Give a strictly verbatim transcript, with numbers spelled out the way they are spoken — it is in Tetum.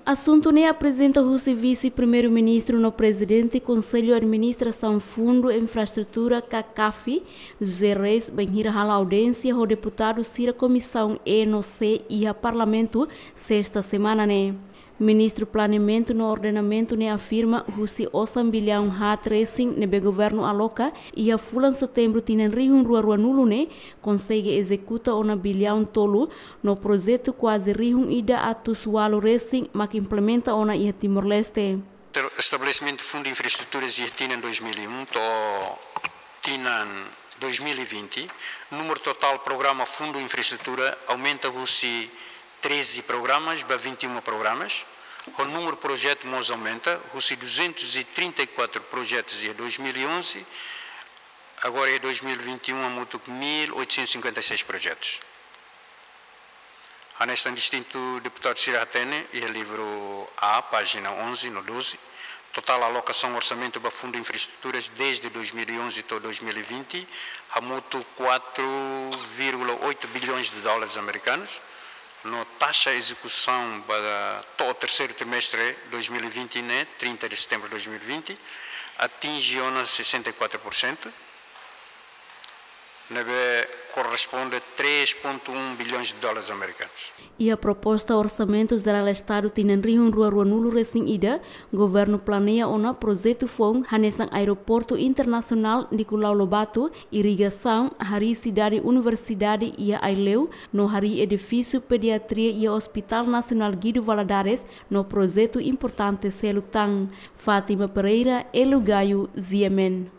Asuntu ne'e aprezenta husi Vise-Primeiru-Ministru no Prezidente Konsellu Administrasaun Fundu Infraestrutura, ka CAFI, José Reis, bainhira hala'o audiénsia ho deputadu sira Komisaun E no C iha Parlamentu, sesta semana ne'e. Ministru Planeamentu no Ordenamentu ne'e afirma husi osan biliaun haat resin ne'ebé governu aloka iha fulan Setembru tinan rihun rua rua nulu ne'e, konsege ezekuta ona biliaun tolu, no projetu kuaze rihun ida atus ualu resin mak implementa ona iha Timor-Leste. Estabelesimentu Fundu Infraestruturas iha tinan dois mil e um to'o tinan dois mil e vinte, númeru totál programa Fundu Infraestrutura aumenta husi treze programas ba vinte e um programas. O númeru projetu mós aumenta, husi duzentos e trinta e quatro projetos iha dois mil e onze, agora iha dois mil e vinte e um hamutuk mil oitocentos e cinquenta e seis projetos. Hanesan distintu deputadu sira hatene iha livru A, pájina onze no doze, totál alokasaun orsamentu ba Fundu Infraestruturas desde dois mil e onze to'o dois mil e vinte hamutuk quatro vírgula oito bilhões de dólares americanos, no taxa ezekusaun ba to'o terseiru trimestre dois mil e vinte ne'e, trinta de setembro de dois mil e vinte, atinje ona sessenta e quatro por cento, ne'ebé korresponde três ponto um bilhões de dólares americanos. Iha proposta Orsamentu Jerál Estadu tinan rihun rua rua nulu resin ida, governu planeia ona projetu foun hanesan Aeroportu Internasionál Nicolau Lobato, irrigasaun, harii sidade universidade iha Aileu, no harii edifísiu pediatria iha Hospital Nasionál Guido Valadares, no projetu importante seluk tan. Fátima Pereira, Elo Gayo, G M N.